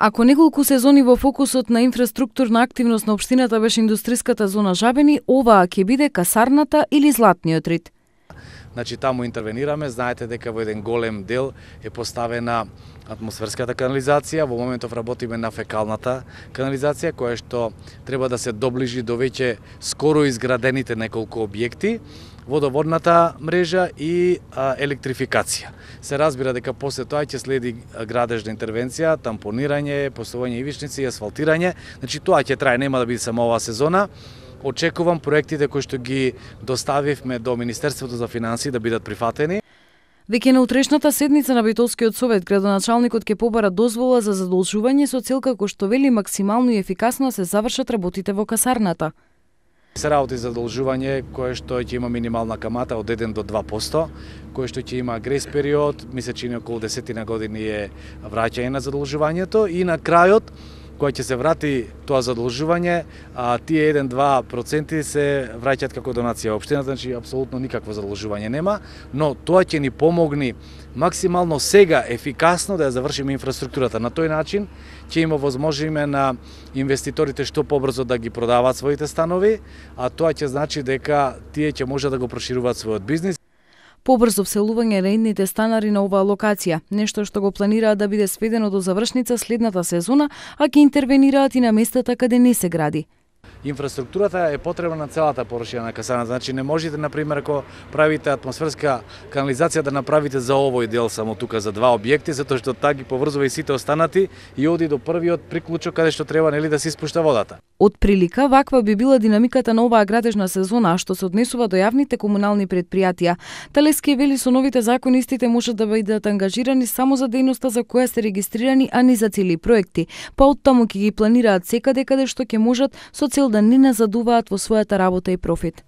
Ако неколку сезони во фокусот на инфраструктурна активност на општината беше индустриската зона Жабени, оваа ќе биде касарната или Златниот рид. Значи таму интервенираме, знаете дека во еден голем дел е поставена атмосферската канализација, во моментов работиме на фекалната канализација која што треба да се доближи до веќе скоро изградените неколку објекти, водоводната мрежа и електрификација. Се разбира дека после тоа ќе следи градежна интервенција, тампонирање, поставување ивичници и асфалтирање. Значи тоа ќе трае, нема да биде само оваа сезона. Очекувам проектите кои што ги доставивме до Министерството за финансии да бидат прифатени. Веќе на утрешната седница на Битолскиот совет, градоначалникот ќе побара дозвола за задолжување со цел како што вели максимално и ефикасно се завршат работите во касарната. Се работи за задолжување кое што ќе има минимална камата од 1 до 2%, кое што ќе има грейс период, мисля че околу 10 години е враќање на задолжувањето и на крајот кога ќе се врати тоа задолжување, тие 1-2% се враќаат како донација општината, значи апсолутно никакво задолжување нема, но тоа ќе ни помогни максимално сега ефикасно да ја завршиме инфраструктурата. На тој начин ќе има возможиме на инвеститорите што побрзо да ги продаваат своите станови, а тоа ќе значи дека тие ќе може да го прошируваат својот бизнис. Побрзо вселување на идните станари на оваа локација, нешто што го планираат да биде сведено до завршница следната сезона, а ќе интервенираат и на местата каде не се гради. Инфраструктурата е потребна на целата површина на касарната, значи не можете, например, ако правите атмосферска канализација да направите за овој дел само тука за 2 објекти, затоа што таа ги поврзува и сите останати и оди до првиот приклучок каде што треба нели да се испушта водата. Од прилика, ваква би била динамиката на оваа градежна сезона, што се однесува до јавните комунални предпријатија. Талески вели со новите закони истите можат да бидат ангажирани само за дејноста за која се регистрирани, а не за цели проекти, па оттаму ќе ги планираат секаде каде што ќе можат со цел да не назадуваат во својата работа и профит.